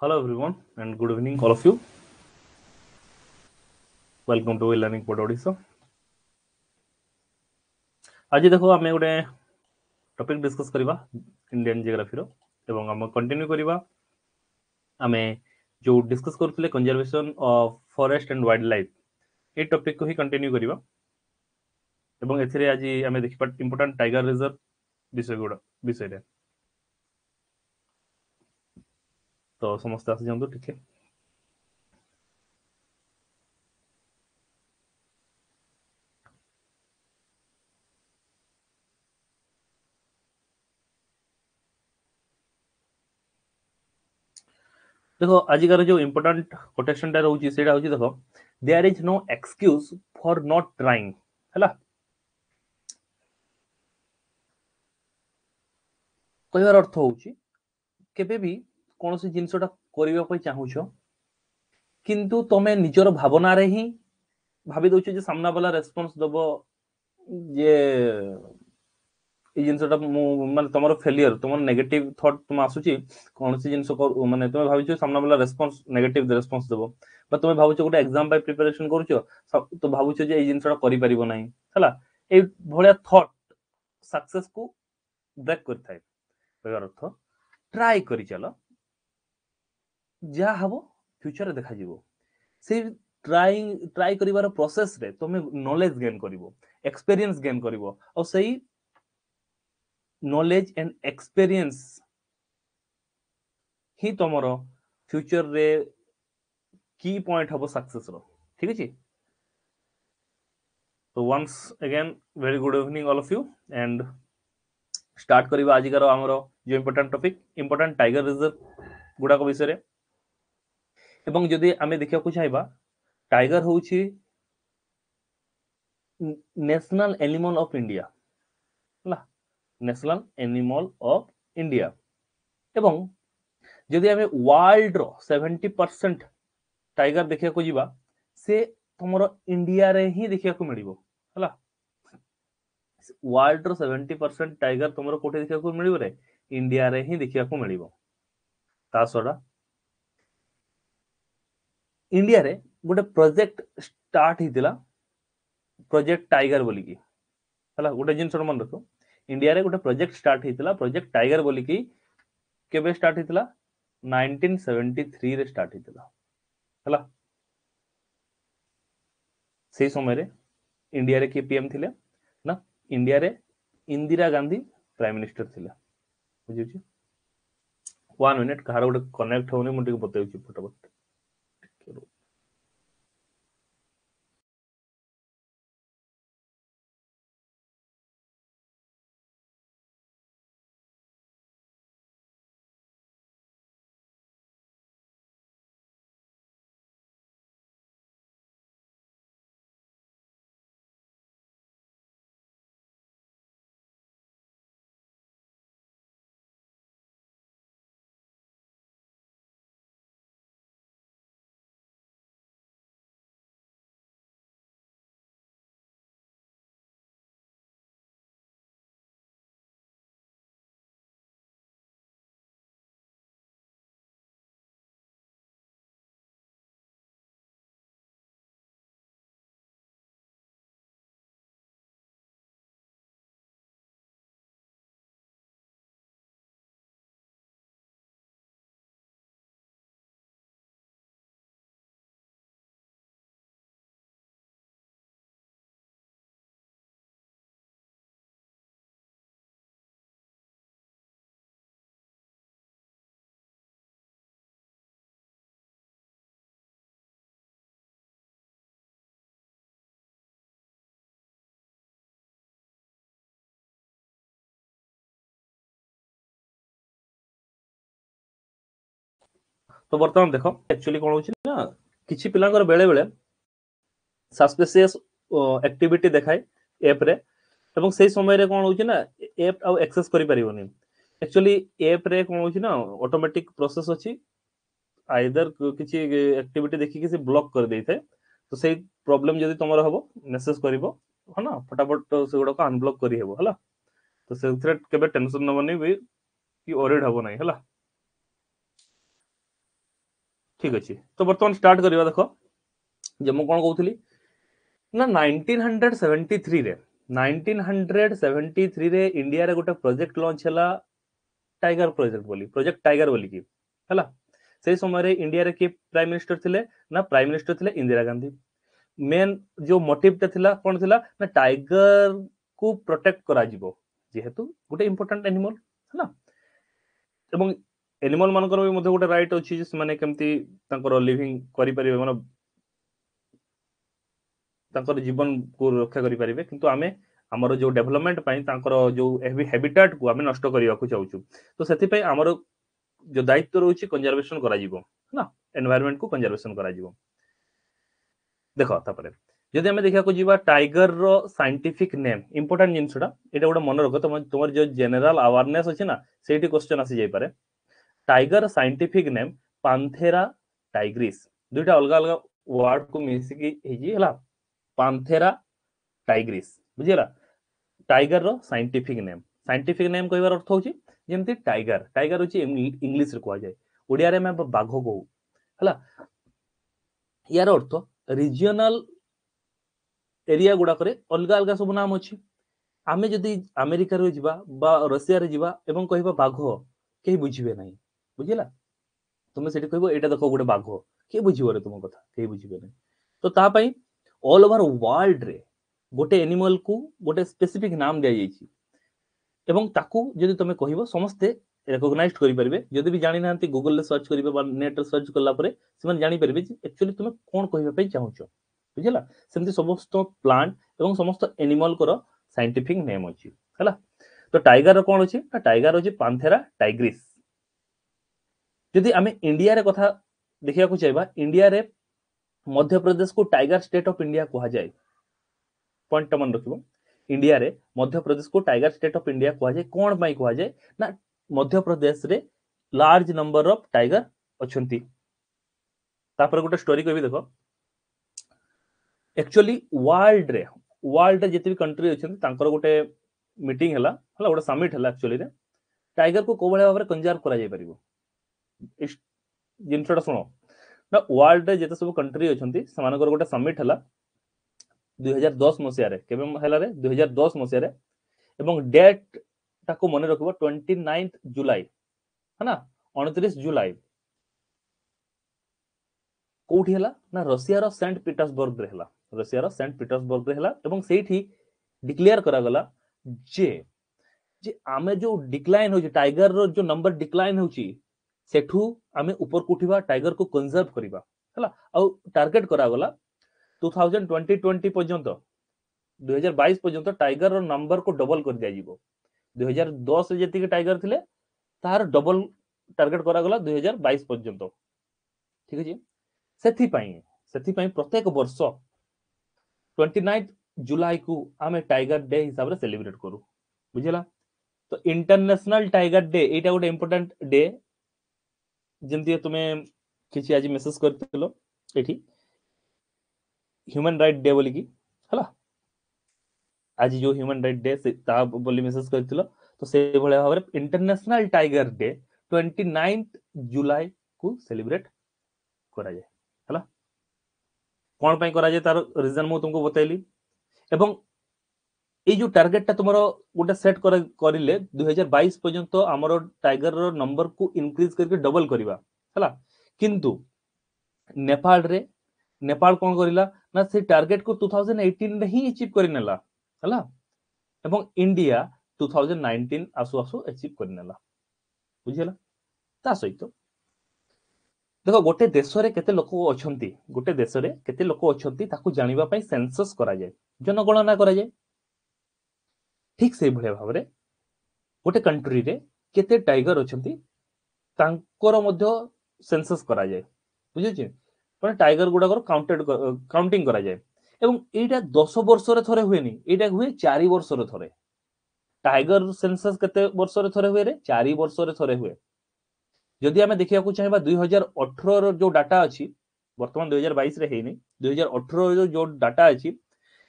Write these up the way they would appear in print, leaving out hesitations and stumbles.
Hello everyone and good evening all of you. Welcome to e-learning pod Odisha. आज देखो आम गोटे topic discuss करवा इंडियन जियोग्राफी एवं आम कंटिन्यू करवा आम जो discuss करुले conservation of forest and wild life A topic को ही कंटिन्यू करवा एवं एथिरे आज आम देखा इंपोर्टाट टाइगर रिजर्व विषय गुड़ा विषय रे। तो समस्त आसी जाऊँ ठीक है। देखो आजिकार जो इम्पोर्टाट कोटेशन टा रहुची सेटा होची देखो there is no excuse for not trying हला। कहवार अर्थ होची केबे भी कोनोसी जिनिसटा करबा पई चाहुछो किंतु तमे निजर भावना रे ही भाबी दउछो जे सामना वाला रेस्पोंस दबो जे ए जिनिसटा माने तमर फेलियर तमर नेगेटिव थॉट तुम आसुची कोनोसी जिनिस माने तमे भाबिछो सामना वाला रेस्पोंस नेगेटिव रेस्पोंस दबो बा तमे भाबुछो गोटे एग्जाम पई प्रिपरेशन करूछो तो भाबुछो जे ए जिनिसटा करि परिबो नाही हला। ए भलिया थॉट सक्सेस को ब्रेक करथाय। कहवार अर्थ ट्राई करि चलो जा हबो फ्यूचर देखा जिवो से ट्राई करिवार प्रोसेस रे तमे नॉलेज गेन करिवो एक्सपीरियंस गेन करिवो और सही नॉलेज एंड एक्सपीरियंस ही तमरो फ्यूचर रे की पॉइंट हबो सक्सेस रो ठीक अछि। तो once again very good evening all of you and start करिवा आजिकार हमरो जो important topic important tiger reserve गुडा को विषय रे। एवं जदि आमे देखिया को चाहबा टाइगर होउछि नेशनल एनिमल ऑफ इंडिया हला नेशनल एनिमल ऑफ इंडिया। एवं जदि आमे वर्ल्ड रो 70% टाइगर देखिया को जिबा से तमरो इंडिया रे ही देखिया को मिलिबो हला। वर्ल्ड रो 70% टाइगर तमरो कोठे देखिया को मिलिबो रे इंडिया रे ही देखिया को मिलिबो। ता छडा इंडिया रे गोटे प्रोजेक्ट स्टार्ट होइतिला प्रोजेक्ट टाइगर बोलिकी हला। गोटे जिनिस मन रखो इंडिया रे गोटे प्रोजेक्ट स्टार्ट होइतिला प्रोजेक्ट टाइगर बोलिकी केबे स्टार्ट होइतिला 1973 रे स्टार्ट होइतिला हला। सेई समय रे इंडिया रे के पीएम थिले ना इंडिया रे इंदिरा गांधी प्राइम मिनिस्टर थिले बुझिछि। 1 मिनिट कहार गोटे कनेक्ट होनी मु टिके बताउछि फटाफट। तो बर्तमान देखो एक्चुअली कोन होछि ना किछि पिलांकर बेले बेले सस्पिशियस एक्टिविटी देखाय ऐप रे एवं सेई समय रे कोन होछि ना ऐप आउ एक्सेस करि परिबोनी। एक्चुअली ऐप रे कोन होछि ना ऑटोमेटिक प्रोसेस अछि आइदर किछि एक्टिविटी देखि कि से ब्लॉक कर देइथे। तो सेई प्रॉब्लम जदि तमर हबो मेसेज करबो ह ना फटाफट से गुडा को अनब्लॉक करि हेबो हला। तो सेथरे केबे टेंशन नबनी भी कि वरीड हबो नाही हला। ଠିକ ଅଛି, ତ ବର୍ତ୍ତମାନ ଷ୍ଟାର୍ଟ କରିବା। ଦେଖ ଯେ ମୁଁ କଣ କହୁଥିଲି ନା 1973ରେ, 1973ରେ ଇଣ୍ଡିଆରେ ଗୋଟେ ପ୍ରୋଜେକ୍ଟ ଲଞ୍ଚ ହେଲା ଟାଇଗର ପ୍ରୋଜେକ୍ଟ ବୋଲି, ପ୍ରୋଜେକ୍ଟ ଟାଇଗର ବୋଲିକି ହେଲା। ସେଇ ସମୟରେ ଇଣ୍ଡିଆରେ କିଏ ପ୍ରାଇମ ମିନିଷ୍ଟର ଥିଲେ ନା ପ୍ରାଇମ ମିନିଷ୍ଟର ଥିଲେ ଇନ୍ଦିରା ଗାନ୍ଧୀ। ମେନ୍ ଯୋଉ ମୋଟିଭଟା ଥିଲା କଣ ଥିଲା ନା ଟାଇଗର କୁ ପ୍ରୋଟେକ୍ଟ କରାଯିବ, ଯେହେତୁ ଗୋଟେ ଇମ୍ପୋର୍ଟାଣ୍ଟ ଆନିମଲ ହେଲା, ଏବଂ ଏନିମଲ ମାନଙ୍କର ବି ମଧ୍ୟ ଗୋଟେ ରାଇଟ୍ ଅଛି ଯେ ସେମାନେ କେମିତି ତାଙ୍କର ଲିଭିଂ କରିପାରିବେ, ମାନେ ତାଙ୍କର ଜୀବନକୁ ରକ୍ଷା କରିପାରିବେ। କିନ୍ତୁ ଆମେ ଆମର ଯୋଉ ଡେଭଲପମେଣ୍ଟ ପାଇଁ ତାଙ୍କର ଯୋଉ ହାବିଟାଟ କୁ ଆମେ ନଷ୍ଟ କରିବାକୁ ଚାହୁଁଛୁ, ତ ସେଥିପାଇଁ ଆମର ଯୋଉ ଦାୟିତ୍ୱ ରହୁଛି କନଜରଭେସନ କରାଯିବ ହେଲା, ଏନଭାୟରମେଣ୍ଟ କୁ କନଜରଭେସନ କରାଯିବ। ଦେଖ ତାପରେ ଯଦି ଆମେ ଦେଖିବାକୁ ଯିବା ଟାଇଗର ର ସାଇଣ୍ଟିଫିକ ନେମ୍, ଇମ୍ପୋର୍ଟାଣ୍ଟ ଜିନିଷଟା ଏଇଟା ଗୋଟେ ମନେ ରଖ, ତମର ଯୋଉ ଜେନେରାଲ ଆୱାରନେସ୍ ଅଛି ନା ସେଇଠି କ୍ୱେଶ୍ଚନ ଆସି ଯାଇପାରେ। Tiger scientific name Panthera tigris, ଦୁଇଟା ଅଲଗା ଅଲଗା ୱାର୍ଡ କୁ ମିଶିକି ହେଇଛି ହେଲା, ପାନ୍ଥେରା ଟାଇଗ୍ରିସ୍, ବୁଝିହେଲା? ଟାଇଗର ର ସାଇଣ୍ଟିଫିକ ନେମ୍, ସାଇଣ୍ଟିଫିକ ନେମ୍ କହିବାର ଅର୍ଥ ହଉଛି ଯେମିତି ଟାଇଗର, ଟାଇଗର ହଉଛି ଇଂଲିଶରେ କୁହାଯାଏ, ଓଡ଼ିଆରେ ଆମେ ବାଘ କହୁ ହେଲା। ୟାର ଅର୍ଥ ରିଜିଅନାଲ ଏରିଆ ଗୁଡାକରେ ଅଲଗା ଅଲଗା ସବୁ ନାମ ଅଛି। ଆମେ ଯଦି ଆମେରିକାରେ ଯିବା ବା ରଷିଆରେ ଯିବା ଏବଂ କହିବା ବାଘ, କେହି ବୁଝିବେ ନାହିଁ, ବୁଝିଲା? ତୁମେ ସେଠି କହିବ ଏଇଟା ଦେଖ ଗୋଟେ ବାଘ, କିଏ ବୁଝିବ ରେ ତୁମ କଥା, କେହି ବୁଝିବେ ନାହିଁ। ତ ତା ପାଇଁ ଅଲ ଓଭର ୱାର୍ଲଡରେ ଗୋଟେ ଏନିମଲକୁ ଗୋଟେ ସ୍ପେସିଫିକ ନାମ ଦିଆଯାଇଛି ଏବଂ ତାକୁ ଯଦି ତମେ କହିବ ସମସ୍ତେ ରେକଗ୍ନାଇଜ କରିପାରିବେ। ଯଦି ବି ଜାଣିନାହାନ୍ତି ଗୁଗଲରେ ସର୍ଚ୍ଚ କରିବେ ବା ନେଟରେ ସର୍ଚ୍ଚ କଲା ପରେ ସେମାନେ ଜାଣିପାରିବେ ଯେ ଆକ୍ଚୁଆଲି ତୁମେ କଣ କହିବା ପାଇଁ ଚାହୁଁଛ, ବୁଝିଲା? ସେମିତି ସମସ୍ତ ପ୍ଲାଣ୍ଟ ଏବଂ ସମସ୍ତ ଏନିମଲଙ୍କର ସାଇଣ୍ଟିଫିକ ନେମ୍ ଅଛି ହେଲା। ତ ଟାଇଗର କଣ ଅଛି ନା ଟାଇଗର ଅଛି ପାନ୍ଥେରା ଟାଇଗ୍ରିସ୍। ଯଦି ଆମେ ଇଣ୍ଡିଆରେ କଥା ଦେଖିବାକୁ ଚାହିଁବା, ଇଣ୍ଡିଆରେ ମଧ୍ୟପ୍ରଦେଶକୁ ଟାଇଗର ଷ୍ଟେଟ୍ ଅଫ ଇଣ୍ଡିଆ କୁହାଯାଏ। ପଏଣ୍ଟଟା ମନେ ରଖିବ, ଇଣ୍ଡିଆରେ ମଧ୍ୟପ୍ରଦେଶକୁ ଟାଇଗର ଷ୍ଟେଟ୍ ଅଫ ଇଣ୍ଡିଆ କୁହାଯାଏ। କଣ ପାଇଁ କୁହାଯାଏ ନା ମଧ୍ୟପ୍ରଦେଶରେ ଲାର୍ଜ ନମ୍ବର ଅଫ ଟାଇଗର ଅଛନ୍ତି। ତାପରେ ଗୋଟେ ଷ୍ଟୋରି କହିବି ଦେଖ, ଆକ୍ଚୁଆଲି ୱାର୍ଲଡରେ ଯେତେ ବି କଣ୍ଟ୍ରି ଅଛନ୍ତି ତାଙ୍କର ଗୋଟେ ମିଟିଂ ହେଲା ହେଲା, ଗୋଟେ ସମିଟ ହେଲା ଆକ୍ଚୁଆଲିରେ ଟାଇଗରକୁ କୋଉ ଭଳିଆ ଭାବରେ କନଜର୍ଭ କରାଯାଇ ପାରିବ। ଜିନିଷଟା ଶୁଣ ନା, ୱାର୍ଲଡରେ ଯେତେ ସବୁ କଣ୍ଟ୍ରି ଅଛନ୍ତି ସେମାନଙ୍କର ଗୋଟେ ସମିଟ ହେଲା 2010 ମସିହାରେ। କେବେ ହେଲା ରେ? 2010 ମସିହାରେ। ଏବଂ ଡେଟ୍ ଟାକୁ ମନେ ରଖିବ 29 ଜୁଲାଇ, ହେଲା 29 ଜୁଲାଇ। କୋଉଠି ହେଲା ନା ରଷିଆର ସେଣ୍ଟ ପିଟର୍ସବର୍ଗରେ ହେଲା, ରଷିଆର ସେଣ୍ଟ ପିଟର୍ସବର୍ଗରେ ହେଲା। ଏବଂ ସେଇଠି ଡିକ୍ଲେୟାର କରାଗଲା ଯେ ଆମେ ଯୋଉ ଡିକ୍ଲାଇନ ହଉଛି ଟାଇଗର ର ଯୋଉ ନମ୍ବର ଡିକ୍ଲାଇନ ହଉଛି ସେଠୁ ଆମେ ଉପରକୁ ଉଠିବା, ଟାଇଗରକୁ କନଜର୍ଭ କରିବା ହେଲା। ଆଉ ଟାର୍ଗେଟ କରାଗଲା 2020 ପର୍ଯ୍ୟନ୍ତ, 2022 ପର୍ଯ୍ୟନ୍ତ ଟାଇଗର ର ନମ୍ବରକୁ ଡବଲ କରିଦିଆଯିବ। 2010 ରେ ଯେତିକି ଟାଇଗର ଥିଲେ ତାହାର ଡବଲ ଟାର୍ଗେଟ କରାଗଲା 2022 ପର୍ଯ୍ୟନ୍ତ, ଠିକ ଅଛି? ସେଥିପାଇଁ ପ୍ରତ୍ୟେକ ବର୍ଷ 29 ଜୁଲାଇ କୁ ଆମେ ଟାଇଗର ଡେ ହିସାବରେ ସେଲିବ୍ରେଟ କରୁ, ବୁଝିଲା? ତ ଇଣ୍ଟରନ୍ୟାସନାଲ ଟାଇଗର ଡେ ଏଇଟା ଗୋଟେ ଇମ୍ପୋର୍ଟାଣ୍ଟ ଡେ। ଯେମିତି ତୁମେ କିଛି ଆଜି ମେସେଜ କରିଥିଲ ଏଠି ହ୍ୟୁମାନ ରାଇଟ ଡେ ବୋଲିକି ହେଲା, ଆଜି ଯୋଉ ହ୍ୟୁମାନ ରାଇଟ ଡେ ତା ବୋଲି ମେସେଜ କରିଥିଲ, ତ ସେଇଭଳିଆ ଭାବରେ ଇଣ୍ଟରନ୍ୟାସନାଲ ଟାଇଗର ଡେ 29 ଜୁଲାଇ କୁ ସେଲିବ୍ରେଟ କରାଯାଏ ହେଲା। କଣ ପାଇଁ କରାଯାଏ ତାର ରିଜନ ମୁଁ ତୁମକୁ ବତେଇଲି। ଏବଂ ଏଇ ଯୋଉ ଟାର୍ଗେଟଟା ତୁମର ଗୋଟେ ସେଟ୍ କରିଲେ 2022 ପର୍ଯ୍ୟନ୍ତ ଆମର ଟାଇଗର ର ନମ୍ବରକୁ ଇନକ୍ରିଜ କରିକି ଡବଲ କରିବା ହେଲା। କିନ୍ତୁ ନେପାଳ କଣ କରିଲା ନା ସେ ଟାର୍ଗେଟକୁ 2018 ରେ ହିଁ ଆଚିଭ କରିନେଲା ହେଲା, ଏବଂ ଇଣ୍ଡିଆ 2019 ଆସୁ ଆସୁ ଆଚିଭ କରିନେଲା, ବୁଝିହେଲା? ତା ସହିତ ଦେଖ ଗୋଟେ ଦେଶରେ କେତେ ଲୋକ ଅଛନ୍ତି, ଗୋଟେ ଦେଶରେ କେତେ ଲୋକ ଅଛନ୍ତି ତାକୁ ଜାଣିବା ପାଇଁ ସେନ୍ସସ୍ କରାଯାଏ, ଜନଗଣନା କରାଯାଏ। ଠିକ ସେଇଭଳିଆ ଭାବରେ ଗୋଟେ କଣ୍ଟ୍ରିରେ କେତେ ଟାଇଗର ଅଛନ୍ତି ତାଙ୍କର ମଧ୍ୟ ସେନ୍ସସ୍ କରାଯାଏ, ବୁଝୁଛି? ମାନେ ଟାଇଗର ଗୁଡାକର କାଉଣ୍ଟିଂ କରାଯାଏ। ଏବଂ ଏଇଟା 10 ବର୍ଷରେ ଥରେ ହୁଏନି, ଏଇଟା ହୁଏ 4 ବର୍ଷରେ ଥରେ। ଟାଇଗର ସେନ୍ସସ୍ କେତେ ବର୍ଷରେ ଥରେ ହୁଏ ରେ? 4 ବର୍ଷରେ ଥରେ ହୁଏ। ଯଦି ଆମେ ଦେଖିବାକୁ ଚାହିଁବା 2018 ର ଯୋଉ ଡାଟା ଅଛି, ବର୍ତ୍ତମାନ 2022 ରେ ହେଇନି, 2018 ର ଯୋଉ ଡାଟା ଅଛି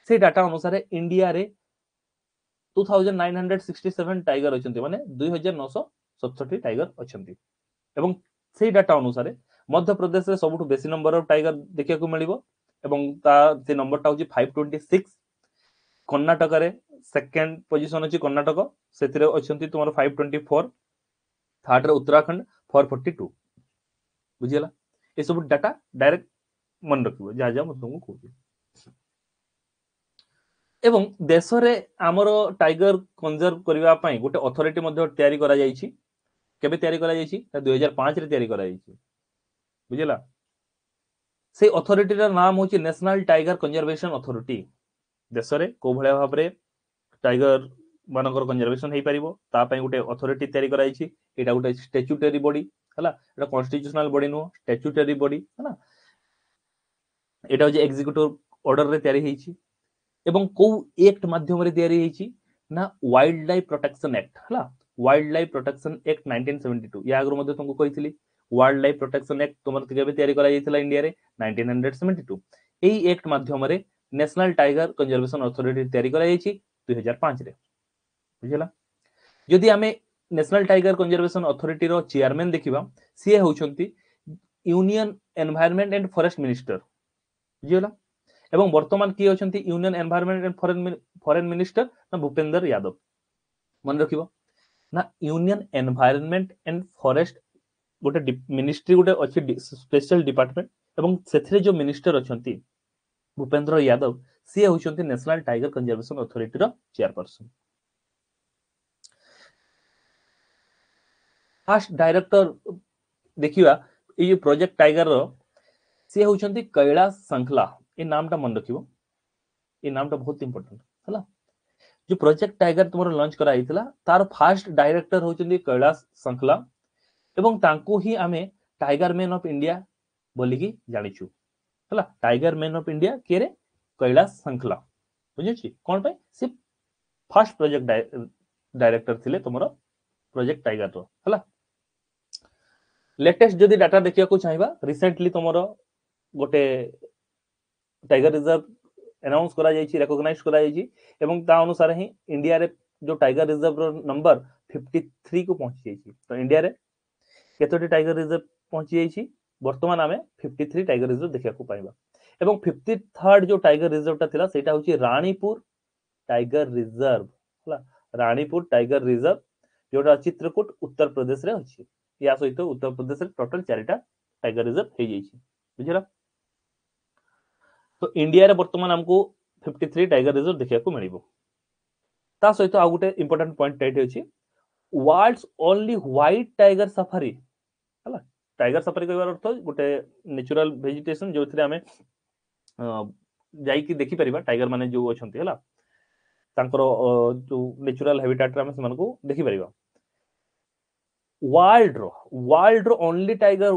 ସେଇ ଡାଟା ଅନୁସାରେ ଇଣ୍ଡିଆରେ 2967 ଟାଇଗର ଅଛନ୍ତି, ମାନେ 2967 ଟାଇଗର ଅଛନ୍ତି। ଏବଂ ସେଇ ଡାଟା ଅନୁସାରେ ମଧ୍ୟପ୍ରଦେଶରେ ସବୁଠୁ ବେଶୀ ନମ୍ବର ଅଫ ଟାଇଗର ଦେଖିବାକୁ ମିଳିବ ଏବଂ ତା ସେ ନମ୍ବରଟା ହଉଛି 526। କର୍ଣ୍ଣାଟକରେ ସେକେଣ୍ଡ ପୋଜିସନ ଅଛି କର୍ଣ୍ଣାଟକ, ସେଥିରେ ଅଛନ୍ତି ତୁମର 524। ଥାର୍ଡରେ ଉତ୍ତରାଖଣ୍ଡ 442। ବୁଝିଗଲା? ଏସବୁ ଡାଟା ଡାଇରେକ୍ଟ ମନେ ରଖିବ, ଯାହା ଯାହା ମୁଁ ତୁମକୁ କହୁଛି। ଏବଂ ଦେଶରେ ଆମର ଟାଇଗର କନଜର୍ଭ କରିବା ପାଇଁ ଗୋଟେ ଅଥରିଟି ମଧ୍ୟ ତିଆରି କରାଯାଇଛି। କେବେ ତିଆରି କରାଯାଇଛି? 2005ରେ ତିଆରି କରାଯାଇଛି। ବୁଝିଲା? ସେଇ ଅଥରିଟିର ନାମ ହଉଛି ନ୍ୟାସନାଲ ଟାଇଗର କନଜରଭେସନ ଅଥରିଟି। ଦେଶରେ କୋଉ ଭଳିଆ ଭାବରେ ଟାଇଗର ମାନଙ୍କର କନଜରଭେସନ ହେଇପାରିବ ତା ପାଇଁ ଗୋଟେ ଅଥରିଟି ତିଆରି କରାଯାଇଛି। ଏଇଟା ଗୋଟେ ଷ୍ଟାଚ୍ୟୁଟରୀ ବଡି, ହେଲା, ଏଇଟା କନଷ୍ଟିଟ୍ୟୁସନାଲ ବଡି ନୁହଁ, ଷ୍ଟାଚ୍ୟୁଟରୀ ବଡି, ହେଲା। ଏଇଟା ହଉଛି ଏକ୍ଜିକ୍ୟୁଟିଭ ଅର୍ଡରରେ ତିଆରି ହେଇଛି। ଏବଂ କୋଉ ଆକ୍ଟ ମାଧ୍ୟମରେ ତିଆରି ହେଇଛି ନା ୱାଇଲ୍ଡ ଲାଇଫ ପ୍ରୋଟେକ୍ସନ ଆକ୍ଟ, ହେଲା, ୱାଇଲ୍ଡ ଲାଇଫ ପ୍ରୋଟେକ୍ସନ ଆକ୍ଟ 1972। ୟା ଆଗରୁ ମଧ୍ୟ ତୁମକୁ କହିଥିଲି ୱାଇଲ୍ଡ ଲାଇଫ ପ୍ରୋଟେକ୍ସନ ଆକ୍ଟ ତୁମର କେବେ ତିଆରି କରାଯାଇଥିଲା ଇଣ୍ଡିଆରେ 1972। ଏଇ ଆକ୍ଟ ମାଧ୍ୟମରେ ନ୍ୟାସନାଲ ଟାଇଗର କନଜରଭେସନ ଅଥରିଟି ତିଆରି କରାଯାଇଛି 2005ରେ। ବୁଝିଲା? ଯଦି ଆମେ ନ୍ୟାସନାଲ ଟାଇଗର କନଜରଭେସନ ଅଥରିଟିର ଚେୟାରମ୍ୟାନ ଦେଖିବା, ସିଏ ହେଉଛନ୍ତି union environment and forest minister. ବୁଝିଗଲା? ଏବଂ ବର୍ତ୍ତମାନ କିଏ ଅଛନ୍ତି union environment and foreign minister ନା ଭୂପେନ୍ଦ୍ର ଯାଦବ। ମନେ ରଖିବ ନା ୟୁନିୟନ ଏନଭାୟରନମେଣ୍ଟ ଆଣ୍ଡ ଫରେଷ୍ଟ ଗୋଟେ ମିନିଷ୍ଟ୍ରି ଗୋଟେ ଅଛି, ସ୍ପେଶାଲ ଡିପାର୍ଟମେଣ୍ଟ, ଏବଂ ସେଥିରେ ଯୋଉ ମିନିଷ୍ଟର ଅଛନ୍ତି ଭୂପେନ୍ଦ୍ର ଯାଦବ, ସିଏ ହେଉଛନ୍ତି ନ୍ୟାସନାଲ ଟାଇଗର କନଜରଭେସନ ଅଥରିଟିର ଚେୟାରପର୍ସନ। ଫାଷ୍ଟ ଡାଇରେକ୍ଟର ଦେଖିବା ଏଇ ଯୋଉ ପ୍ରୋଜେକ୍ଟ ଟାଇଗର, ସିଏ ହେଉଛନ୍ତି କୈଳାସ ସଂଖଲା। ଏ ନାମଟା ମନେ ରଖିବ, ଏ ନାମଟା ବହୁତ ଇମ୍ପୋର୍ଟାଣ୍ଟ, ହେଲା। ଯୋଉ ପ୍ରୋଜେକ୍ଟ ଟାଇଗର ତୁମର ଲଞ୍ଚ କରାଯାଇଥିଲା ତାର ଫାଷ୍ଟ ଡାଇରେକ୍ଟର ହେଉଛନ୍ତି କୈଳାସ ସଂଖଲା ଏବଂ ତାଙ୍କୁ ହିଁ ଆମେ ଟାଇଗର ମ୍ୟାନ୍ ଅଫ ଇଣ୍ଡିଆ ବୋଲିକି ଜାଣିଛୁ, ହେଲା। ଟାଇଗର ମ୍ୟାନ୍ ଅଫ ଇଣ୍ଡିଆ କିଏ ରେ? କୈଳାସ ସଂଖଲା। ବୁଝୁଛି କଣ ପାଇଁ? ସେ ଫାଷ୍ଟ ପ୍ରୋଜେକ୍ଟ ଡାଇରେକ୍ଟର ଥିଲେ ତୁମର ପ୍ରୋଜେକ୍ଟ ଟାଇଗର, ହେଲା। ଲେଟେଷ୍ଟ ଯଦି ଡାଟା ଦେଖିବାକୁ ଚାହିଁବା, ରିସେଣ୍ଟଲି ତୁମର ଗୋଟେ ଟାଇଗର ରିଜର୍ଭ ଆନାଉନ୍ସ କରାଯାଇଛି, ରେକଗ୍ନାଇଜ କରାଯାଇଛି ଏବଂ ତା ଅନୁସାରେ ହିଁ ଇଣ୍ଡିଆରେ ଯୋଉ ଟାଇଗର ରିଜର୍ଭର ନମ୍ବର 53 କୁ ପହଞ୍ଚି ଯାଇଛି। ତ ଇଣ୍ଡିଆରେ କେତୋଟି ଟାଇଗର ରିଜର୍ଭ ପହଞ୍ଚି ଯାଇଛି? ବର୍ତ୍ତମାନ ଆମେ 53 ଟାଇଗର ରିଜର୍ଭ ଦେଖିବାକୁ ପାଇବା। ଏବଂ 53rd ଯୋଉ ଟାଇଗର ରିଜର୍ଭଟା ଥିଲା ସେଇଟା ହଉଛି ରାଣୀପୁର ଟାଇଗର ରିଜର୍ଭ, ହେଲା। ରାଣୀପୁର ଟାଇଗର ରିଜର୍ଭ ଯୋଉଟା ଚିତ୍ରକୂଟ ଉତ୍ତର ପ୍ରଦେଶରେ ଅଛି। ୟା ସହିତ ଉତ୍ତର ପ୍ରଦେଶରେ ଟୋଟାଲ 4ଟା ଟାଇଗର ରିଜର୍ଭ ହେଇଯାଇଛି। ବୁଝିଲା? ତ ଇଣ୍ଡିଆରେ ବର୍ତ୍ତମାନ ଆମକୁ 53 ଟାଇଗର ରିଜର୍ଭ ଦେଖିବାକୁ ମିଳିବ। ତା ସହିତ ଆଉ ଗୋଟେ ଇମ୍ପୋର୍ଟାଣ୍ଟ ପଏଣ୍ଟ ଏଇଠି ଅଛି, world's only white tiger safari, ହେଲା। ଟାଇଗର ସଫାରି କହିବାର ଅର୍ଥ ଗୋଟେ ନ୍ୟାଚୁରାଲ ଭେଜିଟେସନ ଯୋଉଥିରେ ଆମେ ଯାଇକି ଦେଖିପାରିବା ଟାଇଗର ମାନେ ଯୋଉ ଅଛନ୍ତି, ହେଲା, ତାଙ୍କର ଯୋଉ ନ୍ୟାଚୁରାଲ ହାବିଟାଟରେ ଆମେ ସେମାନଙ୍କୁ ଦେଖିପାରିବା। ୱାର୍ଲଡର only tiger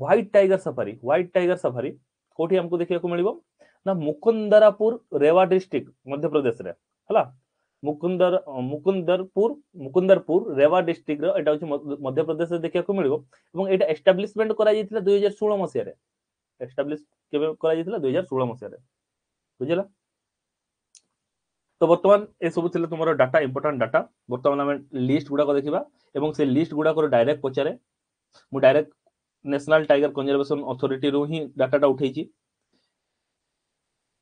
white tiger safari, white tiger safari କୋଉଠି ଆମକୁ ଦେଖିବାକୁ ମିଳିବ ନା ମୁକୁନ୍ଦରାପୁର ରେୱା ଡିଷ୍ଟ୍ରିକ୍ଟ ମଧ୍ୟପ୍ରଦେଶରେ, ହେଲା। ମୁକୁନ୍ଦରପୁର ରେୱା ଡିଷ୍ଟ୍ରିକ୍ଟର ଏଇଟା ହଉଛି ମଧ୍ୟପ୍ରଦେଶରେ ଦେଖିବାକୁ ମିଳିବ। ଏବଂ ଏଇଟା ଏଷ୍ଟାବ୍ଲିଶମେଣ୍ଟ କରାଯାଇଥିଲା 2016 ମସିହାରେ। ଏଷ୍ଟାବ୍ଲିଶ କେବେ କରାଯାଇଥିଲା? 2016 ମସିହାରେ। ବୁଝିଲା? ତ ବର୍ତ୍ତମାନ ଏସବୁ ଥିଲା ତୁମର ଡାଟା, ଇମ୍ପୋର୍ଟାଣ୍ଟ ଡାଟା। ବର୍ତ୍ତମାନ ଆମେ ଲିଷ୍ଟ ଗୁଡାକ ଦେଖିବା ଏବଂ ସେ ଲିଷ୍ଟ ଗୁଡାକର ଡାଇରେକ୍ଟ ପଚାରେ। ମୁଁ ଡାଇରେକ୍ଟ ନ୍ୟାସନାଲ ଟାଇଗର କନଜରଭେସନ ଅଥରିଟିରୁ ହିଁ ଡାଟାଟା ଉଠେଇଛି।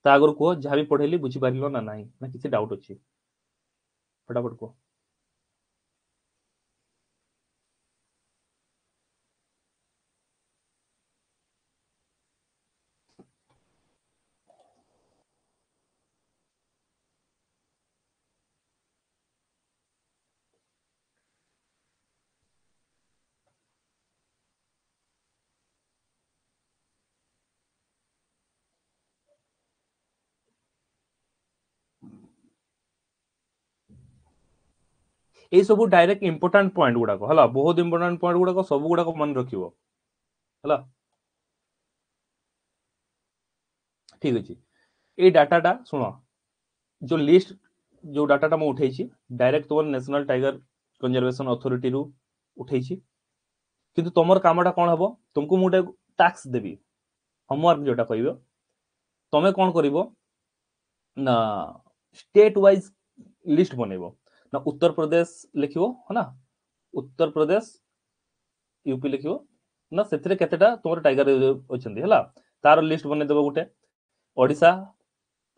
ତା ଆଗରୁ କୁହ ଯାହା ବି ପଢେଇଲି ବୁଝିପାରିଲ ନା ନାହିଁ, ନା କିଛି ଡାଉଟ୍ ଅଛି? ଫଟାଫଟ କୁହ। এই ସବୁ ଡାଇରେକ୍ଟ ଇମ୍ପୋର୍ଟାଣ୍ଟ ପଏଣ୍ଟ ଗୁଡାକ, ହେଲା, ବହୁତ ଇମ୍ପୋର୍ଟାଣ୍ଟ ପଏଣ୍ଟ ଗୁଡାକ, ସବୁ ଗୁଡାକ ମନେ ରଖିବ, ହେଲା। ଠିକ ଅଛି, ଏଇ ଡାଟାଟା ଶୁଣ, ଯୋଉ ଲିଷ୍ଟ ଯୋଉ ଡାଟାଟା ମୁଁ ଉଠେଇଛି ଡାଇରେକ୍ଟ ତୁମର ନ୍ୟାସନାଲ ଟାଇଗର କନଜରଭେସନ ଅଥରିଟିରୁ ଉଠେଇଛି। କିନ୍ତୁ ତମର କାମଟା କଣ ହବ, ତୁମକୁ ମୁଁ ଗୋଟେ ଟାସ୍କ ଦେବି, ହୋମୱାର୍କ ଯୋଉଟା କହିବ, ତମେ କଣ କରିବ ନା ଷ୍ଟେଟ ୱାଇଜ ଲିଷ୍ଟ ବନେଇବ। ନା ଉତ୍ତର ପ୍ରଦେଶ ଲେଖିବ, ହଁ ନା, ଉତ୍ତର ପ୍ରଦେଶ ୟୁପି ଲେଖିବ, ନା ସେଥିରେ କେତେଟା ତୁମର ଟାଇଗର ରିଜର୍ଭ ଅଛନ୍ତି ହେଲା, ତାର ଲିଷ୍ଟ ବନେଇଦବ ଗୋଟେ। ଓଡ଼ିଶା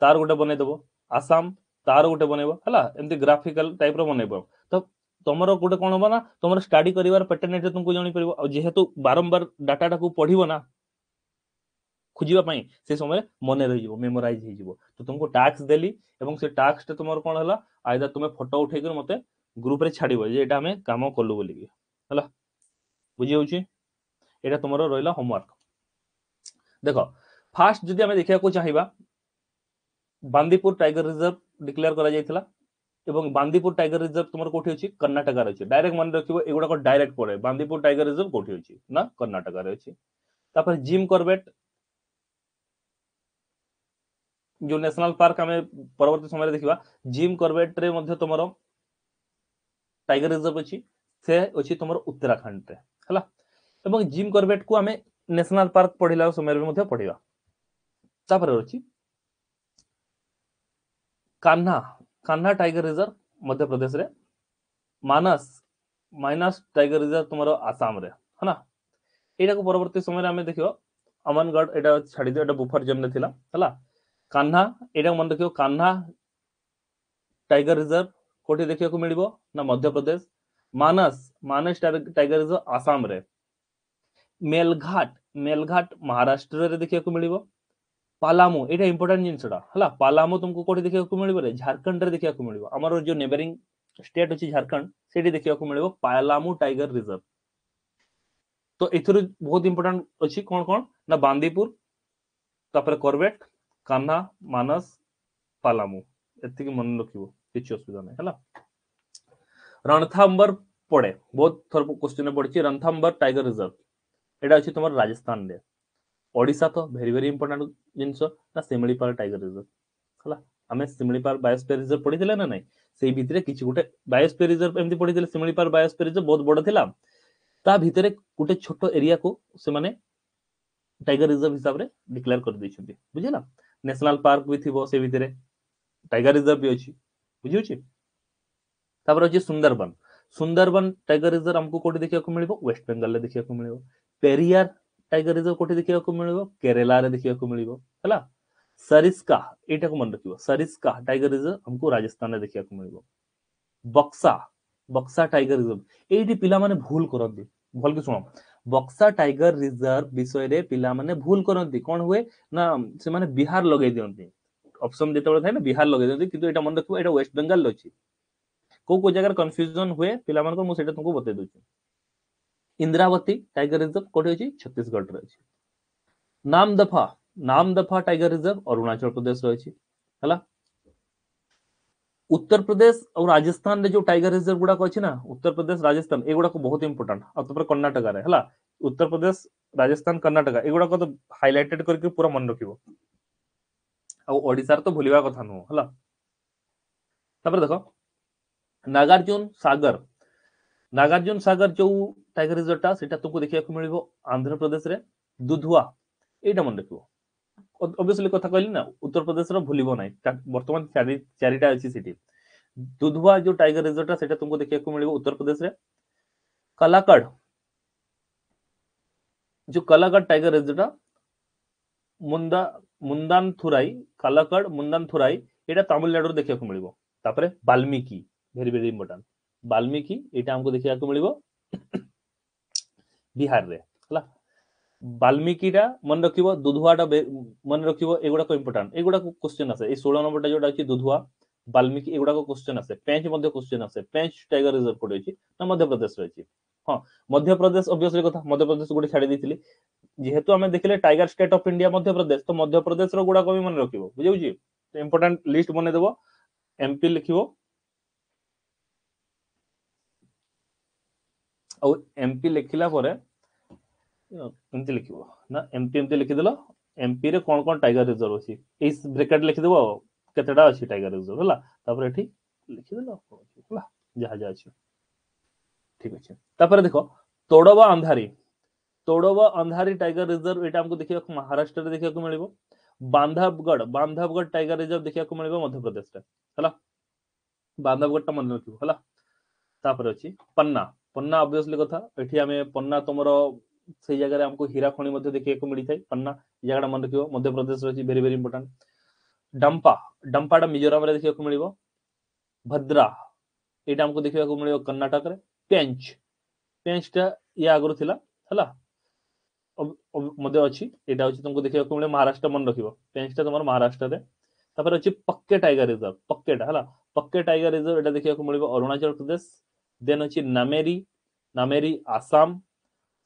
ତାର ଗୋଟେ ବନେଇଦବ, ଆସାମ ତାର ଗୋଟେ ବନେଇବ ହେଲା, ଏମିତି ଗ୍ରାଫିକାଲ ଟାଇପ ର ବନେଇବ। ତ ତମର ଗୋଟେ କଣ ହବ ନା ତମର ଷ୍ଟଡି କରିବାର ପ୍ୟାଟର୍ନ ଏଠି ତୁମକୁ ଜାଣିପାରିବ। ଆଉ ଯେହେତୁ ବାରମ୍ବାର ଡାଟାଟାକୁ ପଢିବ ନା ଖୋଜିବା ପାଇଁ, ସେ ସମୟରେ ମନେ ରହିଯିବ, ମେମୋରାଇଜ ହେଇଯିବ। ତ ତୁମକୁ ଟାସ୍କ ଦେଲି ଏବଂ ସେ ଟାସ୍କଟା ତୁମର କଣ ହେଲା, ଆଇଦର ତୁମେ ଫଟୋ ଉଠେଇକରି ମତେ ଗ୍ରୁପରେ ଛାଡିବ ଯେ ଏଇଟା ଆମେ କାମ କଲୁ ବୋଲିକି ହେଲା। ବୁଝି ହଉଛି? ଏଇଟା ତୁମର ରହିଲା ହୋମୱାର୍କ। ଦେଖ ଫାଷ୍ଟ ଯଦି ଆମେ ଦେଖିବାକୁ ଚାହିଁବା, ବାନ୍ଦିପୁର ଟାଇଗର ରିଜର୍ଭ ଡିକ୍ଲେୟାର କରାଯାଇଥିଲା ଏବଂ ବାନ୍ଦିପୁର ଟାଇଗର ରିଜର୍ଭ ତୁମର କୋଉଠି ଅଛି? କର୍ଣ୍ଣାଟକାରେ ଅଛି। ଡାଇରେକ୍ଟ ମନେ ରଖିବ, ଏଗୁଡାକ ଡାଇରେକ୍ଟ ପଡେ। ବାନ୍ଦିପୁର ଟାଇଗର ରିଜର୍ଭ କୋଉଠି ଅଛି ନା କର୍ଣ୍ଣାଟକାରେ ଅଛି। ତାପରେ ଜିମ୍ କରବେଟ ଯୋଉ ନ୍ୟାସନାଲ ପାର୍କ ଆମେ ପରବର୍ତ୍ତୀ ସମୟରେ ଦେଖିବା, ଜିମ୍ କରବେଟ ରେ ମଧ୍ୟ ତୁମର ଟାଇଗର ରିଜର୍ଭ ଅଛି, ସେ ଅଛି ତୁମର ଉତ୍ତରାଖଣ୍ଡରେ ହେଲା। ଏବଂ ଜିମ୍ କରବେଟ କୁ ଆମେ ନ୍ୟାସନାଲ ପାର୍କ ପଢିଲା ସମୟରେ ବି ମଧ୍ୟ ପଢିବା। ତାପରେ ଅଛି କାହ୍ନା, କାହ୍ନା ଟାଇଗର ରିଜର୍ଭ ମଧ୍ୟପ୍ରଦେଶରେ। ମାନସ, ମାଇନସ ଟାଇଗର ରିଜର୍ଭ ତୁମର ଆସାମରେ ହେଲା। ଏଇଟାକୁ ପରବର୍ତ୍ତୀ ସମୟରେ ଆମେ ଦେଖିବା। ଅମନଗଡ଼ ଏଇଟା ଛାଡ଼ିଦିଅ, ଏଇଟା ବୁଫର ଜୋନରେ ଥିଲା ହେଲା। କାହ୍ନା ଏଇଟା ମନେ ରଖିବ, କାହ୍ନା ଟାଇଗର ରିଜର୍ଭ କୋଉଠି ଦେଖିବାକୁ ମିଳିବ ନା ମଧ୍ୟପ୍ରଦେଶ। ମାନସ, ମାନସ ଟାଇଗର ରିଜର୍ଭ ଆସାମରେ। ମେଲଘାଟ, ମେଲଘାଟ ମହାରାଷ୍ଟ୍ରରେ ଦେଖିବାକୁ ମିଳିବ। ପାଲାମୁ ଏଇଟା ଇମ୍ପୋର୍ଟାଣ୍ଟ ଜିନିଷଟା ହେଲା। ପାଲାମୁ ତୁମକୁ କୋଉଠି ଦେଖିବାକୁ ମିଳିବ ରେ? ଝାରଖଣ୍ଡରେ ଦେଖିବାକୁ ମିଳିବ। ଆମର ଯୋଉ ନେବରିଂ ଷ୍ଟେଟ୍ ଅଛି ଝାରଖଣ୍ଡ, ସେଇଠି ଦେଖିବାକୁ ମିଳିବ ପାଲାମୁ ଟାଇଗର ରିଜର୍ଭ। ତ ଏଥିରୁ ବହୁତ ଇମ୍ପୋର୍ଟାଣ୍ଟ ଅଛି କଣ କଣ ନା ବାନ୍ଦିପୁର, ତାପରେ କରବେଟ, କାହ୍ନା, ମାନସ, ପାଲାମୁ, ଏତିକି ମନେ ରଖିବ, କିଛି ଅସୁବିଧା ନାହିଁ ହେଲା। ରଣଥାମ୍ବର ପଡେ, ବହୁତ ଥର କ୍ୱେଶ୍ଚନ ପଡିଛି। ରଣଥାମ୍ବର ଟାଇଗର ରିଜର୍ଭ ଏଇଟା ଅଛି ତୁମର ରାଜସ୍ଥାନରେ। ଓଡ଼ିଶା ତ ଭେରି ଭେରି ଇମ୍ପୋର୍ଟାଣ୍ଟ ଜିନିଷ ନା ଶିମିଳିପାଳ ଟାଇଗର ରିଜର୍ଭ ହେଲା। ଆମେ ଶିମିଳିପାଳ ବାୟୋସ୍ଫିୟର ରିଜର୍ଭ ପଢିଥିଲେ ନା ନାଇଁ? ସେଇ ଭିତରେ କିଛି ଗୋଟେ ବାୟୋସ୍ଫିୟର ରିଜର୍ଭ ଏମିତି ପଢିଥିଲେ। ଶିମିଳିପାଳ ବାୟୋସ୍ଫିୟର ରିଜର୍ଭ ବହୁତ ବଡ ଥିଲା, ତା ଭିତରେ ଗୋଟେ ଛୋଟ ଏରିଆକୁ ସେମାନେ ଟାଇଗର ରିଜର୍ଭ ହିସାବରେ ଡିକ୍ଲେୟାର କରିଦେଇଛନ୍ତି, ବୁଝିଲା? ନ୍ୟାସନାଲ ପାର୍କ ବି ଥିବ ସେ ଭିତରେ, ଟାଇଗର ରିଜର୍ଭ ବି ଅଛି, ବୁଝିହଉଛି? ତାପରେ ଅଛି ସୁନ୍ଦରବନ। ସୁନ୍ଦରବନ ଟାଇଗର ରିଜର୍ଭ ଆମକୁ କୋଉଠି ଦେଖିବାକୁ ମିଳିବ? ୱେଷ୍ଟ ବେଙ୍ଗଲରେ ଦେଖିବାକୁ ମିଳିବ। ପେରିୟାର ଟାଇଗର ରିଜର୍ଭ କୋଉଠି ଦେଖିବାକୁ ମିଳିବ? କେରଳାରେ ଦେଖିବାକୁ ମିଳିବ ହେଲା। ସରିସ୍କା, ଏଇଟାକୁ ମନେ ରଖିବ, ସରିସ୍କା ଟାଇଗର ରିଜର୍ଭ ଆମକୁ ରାଜସ୍ଥାନରେ ଦେଖିବାକୁ ମିଳିବ। ବକ୍ସା, ବକ୍ସା ଟାଇଗର ରିଜର୍ଭ, ଏଇଠି ପିଲାମାନେ ଭୁଲ କରନ୍ତି, ଭଲ କି ଶୁଣ। ବକ୍ସା ଟାଇଗର ରିଜର୍ଭ ବିଷୟରେ ପିଲାମାନେ ଭୁଲ କରନ୍ତି। କଣ ହୁଏ ନା ସେମାନେ ବିହାର ଲଗେଇ ଦିଅନ୍ତି, ଅପସନ ଯେତେବେଳେ ଥାଏ ନା ବିହାର ଲଗେଇ ଦିଅନ୍ତି, କିନ୍ତୁ ଏଇଟା ମନେ ରଖିବ ଏଇଟା ୱେଷ୍ଟ ବେଙ୍ଗଲରେ ଅଛି। କୋଉ କୋଉ ଜାଗାରେ କନଫ୍ୟୁଜନ ହୁଏ ପିଲାମାନଙ୍କୁ, ମୁଁ ସେଇଟା ତୁମକୁ ବତେଇ ଦଉଛି। ଇନ୍ଦ୍ରାବତୀ ଟାଇଗର ରିଜର୍ଭ କୋଉଠି ଅଛି? ଛତିଶଗଡ଼ରେ ଅଛି। ନାମଦଫା, ନାମଦଫା ଟାଇଗର ରିଜର୍ଭ ଅରୁଣାଚଳ ପ୍ରଦେଶରେ ଅଛି ହେଲା। ଉତ୍ତରପ୍ରଦେଶ ଆଉ ରାଜସ୍ଥାନରେ ଯୋଉ ଟାଇଗର ରିଜର୍ଭ ଗୁଡାକ ଅଛି ନା, ଉତ୍ତରପ୍ରଦେଶ ରାଜସ୍ଥାନ ଏଗୁଡାକ ବହୁତ ଇମ୍ପୋର୍ଟାଣ୍ଟ। ଆଉ ତାପରେ କର୍ଣ୍ଣାଟକାରେ ହେଲା, ଉତ୍ତରପ୍ରଦେଶ ରାଜସ୍ଥାନ କର୍ଣ୍ଣାଟକା ଏଗୁଡାକ ତ ହାଇଲାଇଟେଡ କରିକି ପୁରା ମନେ ରଖିବ। ଆଉ ଓଡିଶାରେ ତ ଭୁଲିବା କଥା ନୁହଁ ହେଲା। ତାପରେ ଦେଖ ନାଗାର୍ଜୁନ ସାଗର, ନାଗାର୍ଜୁନ ସାଗର ଯୋଉ ଟାଇଗର ରିଜର୍ଭଟା ସେଇଟା ତୁମକୁ ଦେଖିବାକୁ ମିଳିବ ଆନ୍ଧ୍ରପ୍ରଦେଶରେ। ଦୁଧୁଆ, ଏଇଟା ମନେ ରଖିବ, ଅବଭିୟସଲି କଥା କହିଲି ନା, ଉତ୍ତରପ୍ରଦେଶର ଭୁଲିବ ନାହିଁ, ବର୍ତ୍ତମାନ ଚାରିଟା ଅଛି ସେଠି। ଦୁଧୁଆ ଯୋଉ ଟାଇଗର ରିଜର୍ଭଟା ସେଇଟା ତୁମକୁ ଦେଖିବାକୁ ମିଳିବ ଉତ୍ତରପ୍ରଦେଶରେ। କଲାକଡ, ଯୋଉ କଲାକଡ ଟାଇଗର ରିଜର୍ଭଟା ମୁନ୍ଦାନଥୁରାଇ, କଲାକଡ ମୁନ୍ଦାନଥୁରାଇ ଏଇଟା ତାମିଲନାଡୁରେ ଦେଖିବାକୁ ମିଳିବ। ତାପରେ Valmiki, very very important, Valmiki ଏଇଟା ଆମକୁ ଦେଖିବାକୁ ମିଳିବ ବିହାରରେ ହେଲା। ବାଲ୍ମୀକିଟା ମନେ ରଖିବ, ଦୁଧୁଆଟା ମନେ ରଖିବ, ଏଗୁଡାକ ଇମ୍ପୋର୍ଟାଣ୍ଟ, ଏଗୁଡାକ କ୍ୱେଶ୍ଚନ ଆସେ। ଏଇ 16 ନମ୍ବରଟା ଯୋଉଟା ଅଛି ଦୁଧୁଆ, ବାଲ୍ମୀକି, ଏଗୁଡାକ କ୍ୱେଶ୍ଚନ ଆସେ। ପେଞ୍ଚ ମଧ୍ୟ କ୍ୱେଶ୍ଚନ ଆସେ। ପେଞ୍ଚ ଟାଇଗର ରିଜର୍ଭ କୋଉଠି ଅଛି ନା ମଧ୍ୟପ୍ରଦେଶରେ ଅଛି। ହଁ ମଧ୍ୟପ୍ରଦେଶ ଅବଭିୟସଲି କଥା, ମଧ୍ୟପ୍ରଦେଶ ଗୋଟେ ଛାଡି ଦେଇଥିଲି, ଯେହେତୁ ଆମେ ଦେଖିଲେ tiger state of India Madhya Pradesh, ତ ମଧ୍ୟପ୍ରଦେଶର ଗୁଡାକ ବି ମନେ ରଖିବ, ବୁଝିହଉଛି? ଇମ୍ପୋର୍ଟାଣ୍ଟ ଲିଷ୍ଟ ବନେଇଦବ, ଏମପି ଲେଖିବ ଆଉ ଏମପି ଲେଖିଲା ପରେ ଏମିତି ଲେଖିବ ନା, ଏମପି ଏମିତି ଲେଖିଦେଲ, ଏମପି ରେ କଣ କଣ ଟାଇଗର ରିଜର୍ଭ ଅଛି ଏଇ ବ୍ରେକେଟ ଲେଖିଦେବ, କେତେଟା ଅଛି ଟାଇଗର ରିଜର୍ଭ ହେଲା। ତାପରେ ଏଠି ଲେଖିଦେଲ ହେଲା ଯାହା ଯାହା ଅଛି, ଠିକ ଅଛି। ତାପରେ ଦେଖ ତୋଡବା ଅନ୍ଧାରୀ, ତୋଡବା ଅନ୍ଧାରୀ ଟାଇଗର ରିଜର୍ଭ ଏଇଟା ଆମକୁ ଦେଖିବାକୁ ମହାରାଷ୍ଟ୍ରରେ ଦେଖିବାକୁ ମିଳିବ। ବାନ୍ଧବଗଡ଼, ବାନ୍ଧବଗଡ଼ ଟାଇଗର ରିଜର୍ଭ ଦେଖିବାକୁ ମିଳିବ ମଧ୍ୟପ୍ରଦେଶରେ ହେଲା, ବାନ୍ଧବଗଡ଼ଟା ମନେ ରଖିବ ହେଲା। ତାପରେ ଅଛି ପନ୍ନା, ପନ୍ନା ଅବଭିୟସଲି କଥା, ଏଠି ଆମେ ପନ୍ନା ତମର ସେଇ ଜାଗାରେ ଆମକୁ ହୀରା ଖଣି ମଧ୍ୟ ଦେଖିବାକୁ ମିଳିଥାଏ। ପନ୍ନା ଜାଗାଟା ମନେ ରଖିବ, ମଧ୍ୟପ୍ରଦେଶରେ ଅଛି, ଭେରି ଭେରି ଇମ୍ପୋର୍ଟାଣ୍ଟ। ଡମ୍ପା, ଡମ୍ପାଟା ମିଜୋରାମରେ ଦେଖିବାକୁ ମିଳିବ। ଭଦ୍ରା ଏଇଟା ଆମକୁ ଦେଖିବାକୁ ମିଳିବ କର୍ଣ୍ଣାଟକରେ। ପେଞ୍ଚ, ପେଞ୍ଚଟା ଇଏ ଆଗରୁ ଥିଲା, ହେଲା, ମଧ୍ୟ ଅଛି। ଏଇଟା ହଉଛି ତମକୁ ଦେଖିବାକୁ ମିଳିବ ମହାରାଷ୍ଟ୍ର, ମନେ ରଖିବ ପେଞ୍ଚଟା ତମର ମହାରାଷ୍ଟ୍ରରେ। ତାପରେ ଅଛି ପକ୍କେ ଟାଇଗର ରିଜର୍ଭ, ପକ୍କେଟା ହେଲା ପକ୍କେ ଟାଇଗର ରିଜର୍ଭ, ଏଇଟା ଦେଖିବାକୁ ମିଳିବ ଅରୁଣାଚଳ ପ୍ରଦେଶ। ଦେନ୍ ଅଛି ନାମେରି, ନାମେରି ଆସାମ,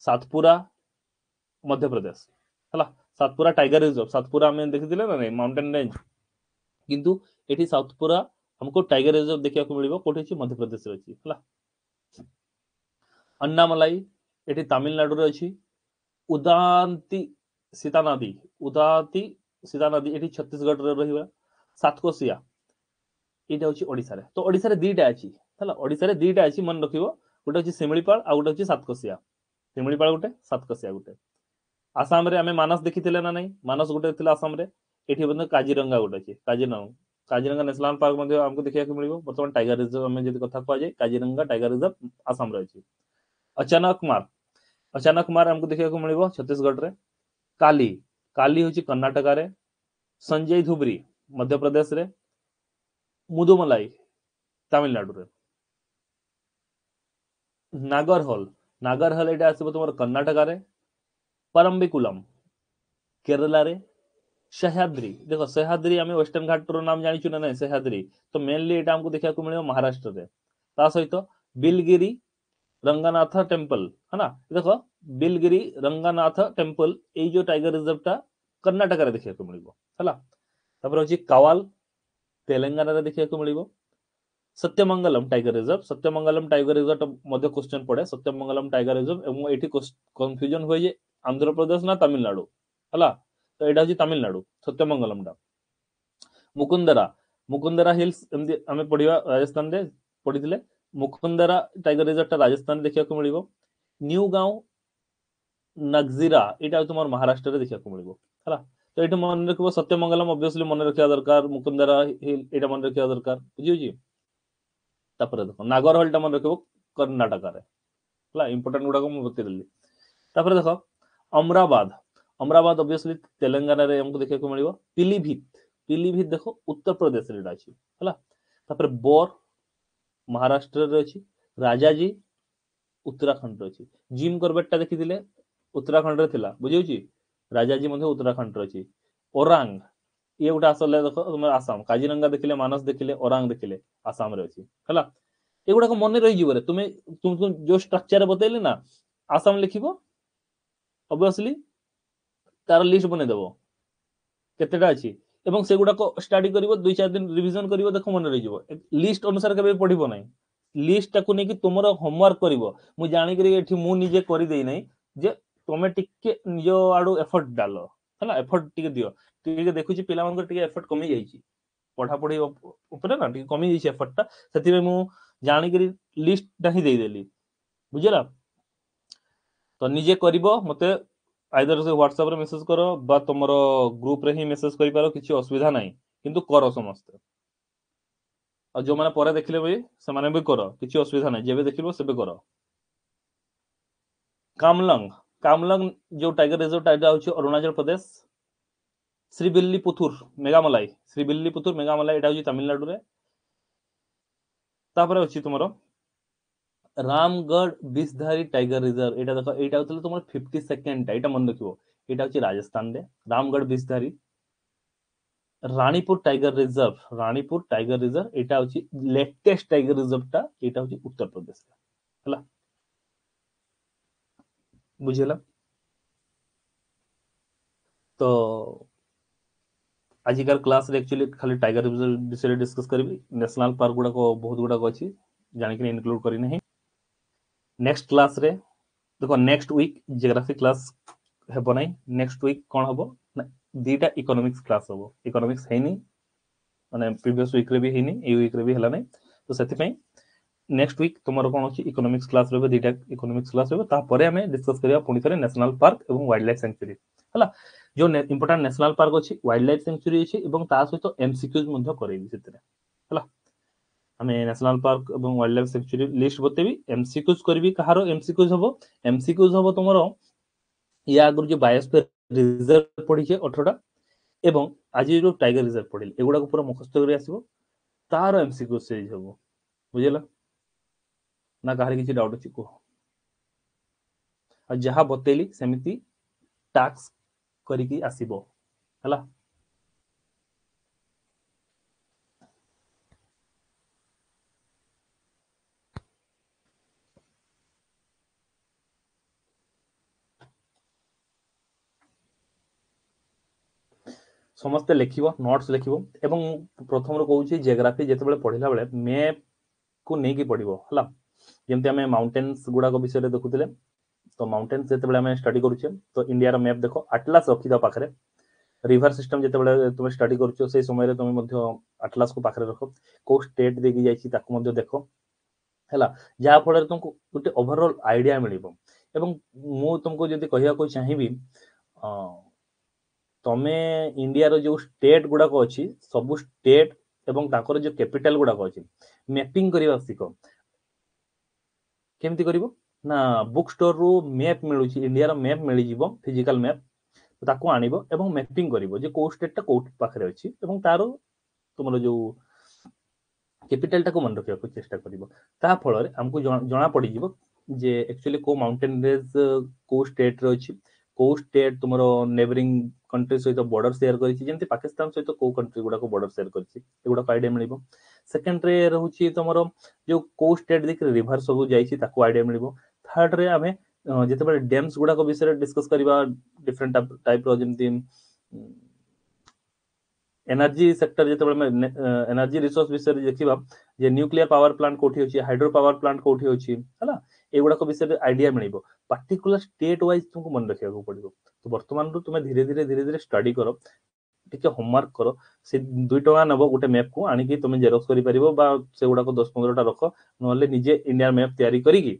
ସାତପୁରା ମଧ୍ୟପ୍ରଦେଶ, ହେଲା। ସାତପୁରା ଟାଇଗର ରିଜର୍ଭ, ସାତପୁରା ଆମେ ଦେଖିଥିଲେ ନା ନାଇଁ, ମାଉଣ୍ଟେନ ରେଞ୍ଜ, କିନ୍ତୁ ଏଠି ସାତପୁରା ଆମକୁ ଟାଇଗର ରିଜର୍ଭ ଦେଖିବାକୁ ମିଳିବ। କୋଉଠି ଅଛି? ମଧ୍ୟପ୍ରଦେଶରେ ଅଛି, ହେଲା। ଅନ୍ନାମଲାଇ ଏଠି ତାମିଲନାଡୁରେ ଅଛି। ଉଦାନ୍ତି ସୀତାନଦୀ, ଉଦାନ୍ତି ସୀତାନଦୀ ଏଠି ଛତିଶଗଡ଼ରେ ରହିବ। ସାତକୋଶିଆ ଏଇଟା ହଉଛି ଓଡ଼ିଶାରେ। ତ ଓଡ଼ିଶାରେ ଦିଟା ଅଛି, ହେଲା, ଓଡ଼ିଶାରେ ଦିଟା ଅଛି ମନେ ରଖିବ, ଗୋଟେ ହଉଛି ଶିମିଳିପାଳ ଆଉ ଗୋଟେ ହଉଛି ସାତକୋଶିଆ। ଶିମିଳିପାଳ ଗୋଟେ, ସାତକୋଶିଆ ଗୋଟେ। ଆସାମରେ ଆମେ ମାନସ ଦେଖିଥିଲେ ନା ନାଇଁ? ମାନସ ଗୋଟେ ଥିଲା ଆସାମରେ। ଏଠି ମଧ୍ୟ କାଜିରଙ୍ଗା ଗୋଟେ ଅଛି, କାଜିରଙ୍ଗା, କାଜିରଙ୍ଗା ନ୍ୟାସନାଲ ପାର୍କ ମଧ୍ୟ ଆମକୁ ଦେଖିବାକୁ ମିଳିବ। ବର୍ତ୍ତମାନ ଟାଇଗର ରିଜର୍ଭ ଆମେ ଯଦି କଥା କୁହାଯାଏ, କାଜିରଙ୍ଗା ଟାଇଗର ରିଜର୍ଭ ଆସାମରେ ଅଛି। ଅଚାନକମାର, ଅଚାନକମାର ଆମକୁ ଦେଖିବାକୁ ମିଳିବ ଛତିଶଗଡ଼ରେ। କାଲି, କାଲି ହଉଛି କର୍ଣ୍ଣାଟକାରେ। ସଞ୍ଜୟ ଧୁବରୀ ମଧ୍ୟପ୍ରଦେଶରେ। ମୁଦୁମଲାଇ ତାମିଲନାଡୁରେ। ନାଗରହୋଲ, ନାଗରହୋଲ ଏଇଟା ଆସିବ ତୁମର କର୍ଣ୍ଣାଟକାରେ। ପରମ୍ବିକୁଲମ କେରଳାରେ। ସହ୍ୟାଦ୍ରି, ଦେଖ ସହ୍ୟାଦ୍ରି ଆମେ ୱେଷ୍ଟର୍ଣ୍ଣ ଘାଟର ନାମ ଜାଣିଛୁ ନା ନାଇଁ? ସହ୍ୟାଦ୍ରି ତ ମେନଲି ଏଇଟା ଆମକୁ ଦେଖିବାକୁ ମିଳିବ ମହାରାଷ୍ଟ୍ରରେ। ତା ସହିତ ବିଲଗିରି ରଙ୍ଗନାଥ ଟେମ୍ପଲ, ହେଲା, ଦେଖ ବିଲଗିରି ରଙ୍ଗନାଥ ଟେମ୍ପଲ, ଏଇ ଯୋଉ ଟାଇଗର ରିଜର୍ଭଟା କର୍ଣ୍ଣାଟକାରେ ଦେଖିବାକୁ ମିଳିବ, ହେଲା। ତାପରେ ଅଛି କାୱାଲ, ତେଲେଙ୍ଗାନାରେ ଦେଖିବାକୁ ମିଳିବ। Sathyamangalam tiger reserve, Sathyamangalam tiger reserve ମଧ୍ୟ କ୍ୱେଶ୍ଚନ ପଡେ, ସତ୍ୟମଙ୍ଗଲମ ଟାଇଗର ରିଜର୍ଭ। ଏବଂ ଏଠି କନଫ୍ୟୁଜନ ହୁଏ ଯେ ଆନ୍ଧ୍ରପ୍ରଦେଶ ନା ତାମିଲନାଡୁ, ହେଲା, ତ ଏଇଟା ହଉଛି ତାମିଲନାଡୁ ସତ୍ୟମଙ୍ଗଲମଟା। ମୁକୁନ୍ଦରା, ମୁକୁନ୍ଦରା ହିଲ୍ସ ଏମିତି ଆମେ ପଢିବା, ରାଜସ୍ଥାନରେ ପଢିଥିଲେ। ମୁକୁନ୍ଦରା ଟାଇଗର ରିଜର୍ଭଟା ରାଜସ୍ଥାନରେ ଦେଖିବାକୁ ମିଳିବ। ନ୍ୟୁ ଗାଁव ନଗଜିରା ଏଇଟା ତୁମର ମହାରାଷ୍ଟ୍ରରେ ଦେଖିବାକୁ ମିଳିବ, ହେଲା। ତ ଏଇଠି ମନେ ରଖିବ ସତ୍ୟମଙ୍ଗଲମ ଅବଭିୟସଲି ମନେ ରଖିବା ଦରକାର, ମୁକୁନ୍ଦରା ହିଲ୍ ଏଇଟା ମନେ ରଖିବା ଦରକାର, ବୁଝିହଉଛି? ତାପରେ ଦେଖ ନାଗରହୋଲଟା ମନେ ରଖିବ କର୍ଣ୍ଣାଟକାରେ, ହେଲା, ଇମ୍ପୋର୍ଟାଣ୍ଟ ଗୁଡାକ ମୁଁ ବତେଇଦେଲି। ତାପରେ ଦେଖ ଅମରାବାଦ, ଅମରାବାଦ ଅବଭିୟସଲି ତେଲେଙ୍ଗାନାରେ ଆମକୁ ଦେଖିବାକୁ ମିଳିବ। ପିଲିଭିତ, ପିଲିଭିତ ଦେଖ ଉତ୍ତରପ୍ରଦେଶରେ ଏଇଟା ଅଛି, ହେଲା। ତାପରେ ବୋର ମହାରାଷ୍ଟ୍ରରେ ଅଛି। ରାଜାଜୀ ଉତ୍ତରାଖଣ୍ଡରେ ଅଛି। ଜିମ୍ କରବେଟଟା ଦେଖିଥିଲେ ଉତ୍ତରାଖଣ୍ଡରେ ଥିଲା, ବୁଝିହଉଛି? ରାଜାଜୀ ମଧ୍ୟ ଉତ୍ତରାଖଣ୍ଡରେ ଅଛି। ଓରାଙ୍ଗ ଇଏ ଗୋଟେ ଆସିଲେ ଦେଖ ତୁମର ଆସାମ। କାଜିରଙ୍ଗା ଦେଖିଲେ, ମାନସ ଦେଖିଲେ, ଓରାଙ୍ଗ ଦେଖିଲେ, ଆସାମରେ ଅଛି, ହେଲା। ଏଗୁଡାକ ମନେ ରହିଯିବ ରେ। ତୁମେ ଯୋଉ ଷ୍ଟ୍ରକ୍ଚର ବତେଇଲେ ନା, ଆସାମ ଲେଖିବ ଅବଭିୟସଲି, ତାର ଲିଷ୍ଟ ବନେଇଦବ କେତେଟା ଅଛି, ଏବଂ ସେଗୁଡାକ ଷ୍ଟଡି କରିବ, 2-4 ଦିନ ରିଭିଜନ କରିବ, ଦେଖ ମନେ ରହିଯିବ। ଲିଷ୍ଟ ଅନୁସାରେ କେବେ ପଢିବ ନାହିଁ, ଲିଷ୍ଟଟାକୁ ନେଇକି ତୁମର ହୋମୱାର୍କ କରିବ। ମୁଁ ଜାଣିକିରି ଏଠି ମୁଁ ନିଜେ କରିଦେଇ ନାହିଁ ଯେ ତମେ ଟିକେ ନିଜ ଆଡୁ ଏଫର୍ଟ ଡାଲ, ହେଲା, ଏଫର୍ଟ ଟିକେ ଦିଅ। ଟିକେ ଦେଖୁଛି ପିଲାମାନଙ୍କର ଟିକେ ଏଫର୍ଟ କମି ଯାଇଛି ପଢାପଢି ଉପରେ ନା, ଟିକେ କମି ଯାଇଛି ଏଫର୍ଟଟା, ସେଥିପାଇଁ ମୁଁ ଜାଣିକିରି ଲିଷ୍ଟଟା ହିଁ ଦେଇଦେଲି, ବୁଝିଲା? ତ ନିଜେ କରିବ, ମତେ ଆଇଦର ସେ ହ୍ୱାଟ୍ସଆପରେ ମେସେଜ କର ବା ତମର ଗ୍ରୁପରେ ହିଁ ମେସେଜ କରିପାର, କିଛି ଅସୁବିଧା ନାହିଁ, କିନ୍ତୁ କର ସମସ୍ତେ। ଆଉ ଯୋଉମାନେ ପରେ ଦେଖିଲେ ବି ସେମାନେ ବି କର, କିଛି ଅସୁବିଧା ନାହିଁ, ଯେବେ ଦେଖିବ ସେବେ କର। କାମଲଙ୍ଗ, କାମଲଙ୍ଗ ଯୋଉ ଟାଇଗର ରିଜର୍ଭ ଏଇଟା ହଉଛି ଅରୁଣାଚଳ ପ୍ରଦେଶ। ଶ୍ରୀବିଲ୍ଲିପୁଥୁର ମେଘାମଲାଇ, ଶ୍ରୀବିଲ୍ଲିପୁଥୁର ମେଘାମଲାଇ ଏଇଟା ହଉଛି ତାମିଲନାଡୁରେ। ତାପରେ ଅଛି ତୁମର ରାମଗଡ଼ ବିଷଧାରୀ ଟାଇଗର ରିଜର୍ଭ, ଏଇଟା ଦେଖ, ଏଇଟା ହଉଥିଲା ତୁମର 52nd, ଏଇଟା ମନେ ରଖିବ, ଏଇଟା ହଉଛି ରାଜସ୍ଥାନରେ Ramgarh Vishdhari. Ranipur tiger reserve, Ranipur tiger reserve ଏଇଟା ହଉଛି ଲେଟେଷ୍ଟ ଟାଇଗର ରିଜର୍ଭଟା, ଏଇଟା ହଉଛି ଉତ୍ତରପ୍ରଦେଶରେ, ହେଲା, ବୁଝିହେଲା? ତ ଆଜିକାର କ୍ଲାସରେ ଆକ୍ଚୁଆଲି ଖାଲି ଟାଇଗର ରିଜର୍ଭ ବିଷୟରେ ଡିସ୍କସ୍ କରିବି। ନ୍ୟାସନାଲ ପାର୍କ ଗୁଡାକ ବହୁତ ଗୁଡାକ ଅଛି, ଜାଣିକିନି ଇନକ୍ଲୁଡ କରିନାହିଁ। ନେକ୍ସଟ କ୍ଲାସରେ ଦେଖ, ନେକ୍ସଟ ୱିକ୍ ଜିଓଗ୍ରାଫି କ୍ଲାସ ହେବ ନାହିଁ। ନେକ୍ସଟ ୱିକ୍ କଣ ହବ ନା ଦିଟା ଇକୋନୋମିକ୍ସ କ୍ଲାସ ହବ। ଇକୋନୋମିକ୍ସ ହେଇନି, ମାନେ ପ୍ରିଭିୟସ ୱିକରେ ବି ହେଇନି, ଏଇ ୱିକରେ ବି ହେଲା ନାହିଁ, ତ ସେଥିପାଇଁ ନେକ୍ସଟ ୱିକ୍ ତୁମର କଣ ଅଛି ଇକୋନୋମିକ୍ସ କ୍ଲାସ ରହିବ, ଦିଟା ଇକୋନୋମିକ୍ସ କ୍ଲାସ ରହିବ। ତାପରେ ଆମେ ଡିସ୍କସ୍ କରିବା ପୁଣି ଥରେ ନ୍ୟାସନାଲ ପାର୍କ ଏବଂ ୱାଇଲ୍ଡ ଲାଇଫ ସାଙ୍ଚୁରୀ, ହେଲା। ଯୋଉ ଇମ୍ପୋର୍ଟାଣ୍ଟ ନ୍ୟାସନାଲ ପାର୍କ ଅଛି, ୱାଇଲ୍ଡ ଲାଇଫ ସାଙ୍ଚୁରୀ ଅଛି, ଏବଂ ତା ସହିତ ଏମସିକ୍ୟୁଜ ମଧ୍ୟ କରେଇବି ସେଥିରେ, ହେଲା। ଆମେ ନ୍ୟାସନାଲ ପାର୍କ ଏବଂ ୱାଇଲ୍ଡ ଲାଇଫ ସାଙ୍ଚୁରୀ ଲିଷ୍ଟ ବତେଇବି, ଏମସିକ୍ୟୁଜ କରିବି। କାହାର ଏମସିକ୍ୟୁଜ ହବ? ଏମସିକ୍ୟୁଜ ହବ ତୁମର ୟା ଆଗରୁ ଯୋଉ ବାୟୋସ୍ଫିୟର ରିଜର୍ଭ ପଢିଛେ 18ଟା, ଏବଂ ଆଜି ଯୋଉ ଟାଇଗର ରିଜର୍ଭ ପଢିଲେ, ଏଗୁଡାକୁ ପୁରା ମୁଖସ୍ଥ କରି ଆସିବ। ତାର ଏମସିକ୍ୟୁ ସିରିଜ ହବ। ବୁଝିଲା ନା? କାହାର କିଛି ଡାଉଟ୍ ଅଛି କୁହ। ଆଉ ଯାହା ବତେଇଲି ସେମିତି ଟାସ୍କ କରିକି ଆସିବ, ହେଲା? ସମସ୍ତେ ଲେଖିବ, ନୋଟ୍ସ ଲେଖିବ। ଏବଂ ମୁଁ ପ୍ରଥମରୁ କହୁଛି, ଜିଓଗ୍ରାଫି ଯେତେବେଳେ ପଢିଲା ବେଳେ ମ୍ୟାପ୍ କୁ ନେଇକି ପଢିବ, ହେଲା? ଯେମିତି ଆମେ ମାଉଣ୍ଟେନ୍ସ ଗୁଡାକ ବିଷୟରେ ଦେଖୁଥିଲେ, ତ ମାଉଣ୍ଟେନ୍ସ ଯେତେବେଳେ ଆମେ ଷ୍ଟଡି କରୁଛେ, ତ ଇଣ୍ଡିଆର ମ୍ୟାପ୍ ଦେଖ, ଆଟଲାସ ରଖିଥାଅ ପାଖରେ। ରିଭର ସିଷ୍ଟମ ଯେତେବେଳେ ତୁମେ ଷ୍ଟଡି କରୁଛ, ସେଇ ସମୟରେ ତୁମେ ମଧ୍ୟ ଆଟଲାସକୁ ପାଖରେ ରଖ। କୋଉ ଷ୍ଟେଟ୍ ଦେଇକି ଯାଇଛି ତାକୁ ମଧ୍ୟ ଦେଖ, ହେଲା? ଯାହା ଫଳରେ ତୁମକୁ ଗୋଟେ ଓଭରଅଲ ଆଇଡିଆ ମିଳିବ। ଏବଂ ମୁଁ ତୁମକୁ ଯଦି କହିବାକୁ ଚାହିଁବି, ତମେ ଇଣ୍ଡିଆର ଯୋଉ ଷ୍ଟେଟ୍ ଗୁଡାକ ଅଛି, ସବୁ ଷ୍ଟେଟ୍ ଏବଂ ତାଙ୍କର ଯୋଉ କ୍ୟାପିଟାଲ ଗୁଡାକ ଅଛି, ମ୍ୟାପିଂ କରିବା ଶିଖ। କେମିତି କରିବ ନା, ବୁକ୍ ଷ୍ଟୋରରୁ ମ୍ୟାପ୍ ମିଳୁଛି, ଇଣ୍ଡିଆର ମ୍ୟାପ୍ ମିଳିଯିବ, ଫିଜିକାଲ ମ୍ୟାପ୍, ତାକୁ ଆଣିବ ଏବଂ ମ୍ୟାପିଂ କରିବ ଯେ କୋଉ ଷ୍ଟେଟଟା କୋଉ ପାଖରେ ଅଛି, ଏବଂ ତାର ତୁମର ଯୋଉ କ୍ୟାପିଟାଲଟାକୁ ମନେ ରଖିବାକୁ ଚେଷ୍ଟା କରିବ। ତା ଫଳରେ ଆମକୁ ଜଣା ପଡିଯିବ ଯେ ଆକ୍ଚୁଆଲି କୋଉ ମାଉଣ୍ଟେନ ରେଞ୍ଜ କୋଉ ଷ୍ଟେଟରେ ଅଛି, କୋଉ ଷ୍ଟେଟ ତୁମର ନେବରିଂ କଣ୍ଟ୍ରି ସହିତ ବର୍ଡର ସେୟାର କରିଛି, ଯେମିତି ପାକିସ୍ତାନ ସହିତ କୋଉ କଣ୍ଟ୍ରି ଗୁଡାକ ବର୍ଡର ସେୟାର କରିଛି, ଏଗୁଡାକ ଆଇଡିଆ ମିଳିବ। ସେକେଣ୍ଡରେ ରହୁଛି ତମର ଯୋଉ କୋଉ ଷ୍ଟେଟ ଦେଇକି ରିଭର ସବୁ ଯାଇଛି, ତାକୁ ଆଇଡିଆ ମିଳିବ। ଥାର୍ଡରେ ଆମେ ଯେତେବେଳେ ଡ୍ୟାମ୍ସ ଗୁଡାକ ବିଷୟରେ ଡିସ୍କସ କରିବା, ଡିଫରେଣ୍ଟ ଟାଇପର, ଯେମିତି ଏନର୍ଜି ସେକ୍ଟର, ଯେତେବେଳେ ଆମେ ଏନର୍ଜି ରିସୋର୍ସ ବିଷୟରେ ଦେଖିବା ଯେ ନ୍ୟୁକ୍ଲିୟର ପାୱାର ପ୍ଲାଣ୍ଟ କୋଉଠି ଅଛି, ହାଇଡ୍ରୋ ପାୱାର ପ୍ଲାଣ୍ଟ କୋଉଠି ଅଛି, ହେଲା? ଏଗୁଡାକ ବିଷୟରେ ଆଇଡିଆ ମିଳିବ। ପାର୍ଟିକୁଲାର ଷ୍ଟେଟ ୱାଇଜ ତୁମକୁ ମନେ ରଖିବାକୁ ପଡିବ। ତ ବର୍ତ୍ତମାନରୁ ତୁମେ ଧୀରେ ଧୀରେ ଧୀରେ ଧୀରେ ଷ୍ଟଡି କର, ଟିକେ ହୋମୱାର୍କ କର। ସେ 2 ଟଙ୍କା ନେବ ଗୋଟେ ମ୍ୟାପ୍ କୁ ଆଣିକି ତୁମେ ଜେରକ୍ସ କରିପାରିବ, ବା ସେଗୁଡାକ 10-15ଟା ରଖ, ନହେଲେ ନିଜେ ଇଣ୍ଡିଆନ ମ୍ୟାପ୍ ତିଆରି କରିକି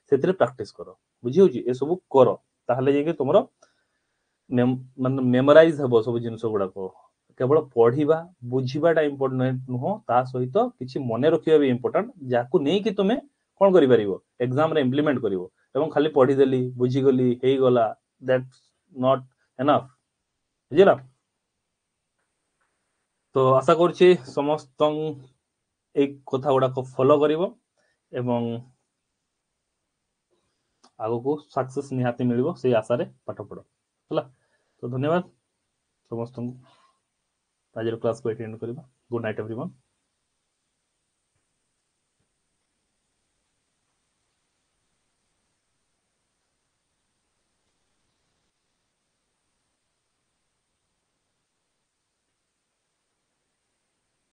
ସେଥିରେ ପ୍ରାକ୍ଟିସ କର। ବୁଝି ହଉଛି? ଏସବୁ କର, ତାହେଲେ ଯାଇକି ତୁମର ମାନେ ମେମୋରାଇଜ ହବ ସବୁ ଜିନିଷ ଗୁଡାକ। କେବଳ ପଢିବା ବୁଝିବାଟା ଇମ୍ପୋର୍ଟାଣ୍ଟ ନୁହଁ, ତା ସହିତ କିଛି ମନେ ରଖିବା ବି ଇମ୍ପୋର୍ଟାଣ୍ଟ, ଯାହାକୁ ନେଇକି ତୁମେ କଣ କରିପାରିବ, ଏକ୍ସାମରେ ଇମ୍ପ୍ଲିମେଣ୍ଟ କରିବ। ଏବଂ ଖାଲି ପଢିଦେଲି, ବୁଝିଗଲି, ହେଇଗଲା, that's not enough. ବୁଝିଲା ତ? ଆଶା କରୁଛି ସମସ୍ତ ଏଇ କଥା ଗୁଡାକ ଫଲୋ କରିବ ଏବଂ ଆଗକୁ ସକ୍ସେସ୍ ନିହାତି ମିଳିବ, ସେଇ ଆଶାରେ ପାଠ ପଢ, ହେଲା? ତ ଧନ୍ୟବାଦ ସମସ୍ତଙ୍କୁ। ଆଜିର କ୍ଲାସକୁ ଏଠି ଏଣ୍ଡ କରିବା। Good night everyone.